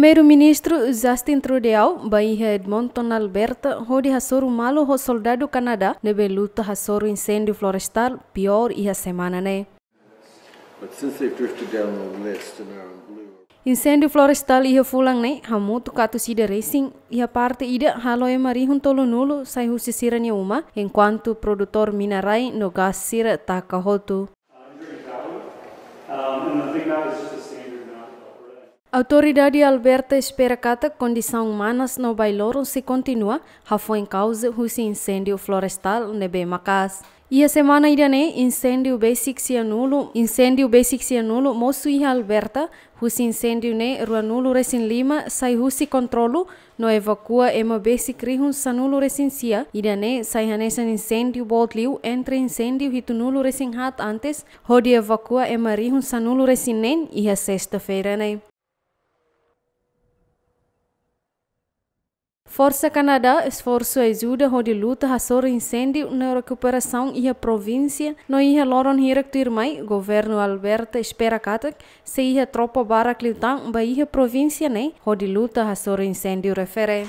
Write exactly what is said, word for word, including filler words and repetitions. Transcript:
Primeiru-Ministru Justin Trudeau bá iha Edmonton, Alberta, hodi hasoru malu ho soldadu Kanadá ne'ebé luta hasoru inséndiu florestál piór iha semana ne'e. But since they've drifted down the list and are in blue. Inséndiu florestál iha fulan ne'e hamutuk atus ida resin, iha parte ida halo ema rihun tolunulu sai husi sira-nia uma, enkuantu produtór mina-rai no gás sira taka hotu. Um, and I think that was just a standard amount of Autoridade Alberta espera katak kondisaun manas no bailoron sei kontinua, hafoin kauza husi inséndiu florestál ne'ebé maka'as. Iha semana ida-ne'e, inséndiu besik sianulu, inséndiu besik sianulu mosu iha Alberta, husi inséndiu ne'e ruanulu resin lima sai husi kontrolu, no evakua ema besik rihun sanulu resin sia, ida-ne'e sai hanesan inséndiu boot liu entre inséndiu hitunulu resin haat antes, hodi evakua ema rihun sanulu resin neen iha sesta-feira ne'e. Forsa Kanadá esforsu ajuda hodi luta hasoru inséndiu no rekuperasaun iha provínsia, no iha loron hirak tuirmai, governu Alberta espera katak sei iha tropa barak liután bá iha provínsia ne'e hodi luta hasoru inséndiu refere.